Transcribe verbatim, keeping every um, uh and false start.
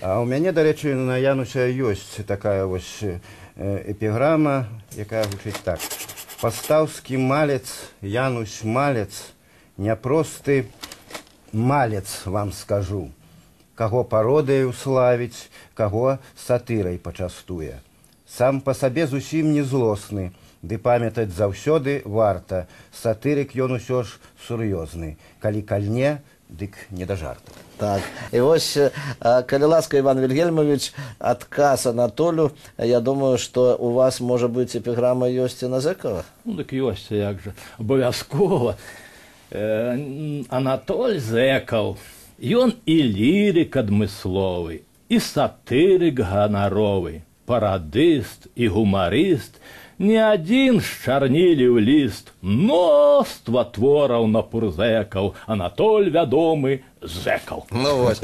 А у мяне, дарэчы, на Януся ёсць такая вось эпіграма, якая гучыць так. Пастаўскі малец, Янусь малец, няпросты малец, вам скажу. Каго пародыяй уславіць, каго сатырай пачастуе. Сам па сабе зусім не злосны, ды памятаць заўсёды варта. Сатырык ён усё ж сур'ёзны. Калі кальне, дык не да жарту. Так, і ось, калі ласка, Іван Вільгельмович, адказ Анатолю, я думаю, што у вас, можа быць, эпіграма ёсць і на Зэкава? Ну, так ёсць, як жа, абавязкова. Анатоль Зэкаў, ён і лірык адмысловы, і сатырык ганаровы, парадыст і гумарыст, не адзін счарніліў ліст, мноства твораў на пурзэкаў, Анатоль вядомы Зэкаў. Ну, вось.